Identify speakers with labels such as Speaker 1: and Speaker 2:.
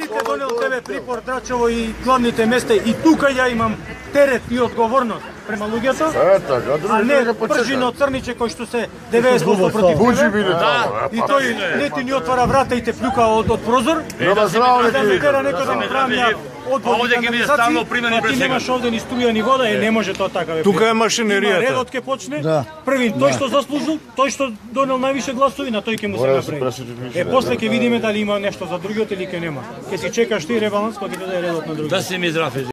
Speaker 1: Вика донел тебе припор Драчево и главните места и тука ја имам терет и одговорност према луѓето. А не пржино Црниче кој што се 90% против тебе. И тој не ти ни отвара врата и те плюка од прозор. Да ме тера некој да ми правам ја одвод и канализација, а ти немаш овде ни струја ни вода, не може тоа така.
Speaker 2: Тука е машинеријата.
Speaker 1: Редот ке почне. Првин тој што заслужил, тој што донел највише гласови, на тој ќе му се направи. После ќе видиме дали има нешто за другиот или ќе нема. Ќе си чекаш ти ребаланс, па ќе даде редот на другиот.
Speaker 3: Да се ми здраве.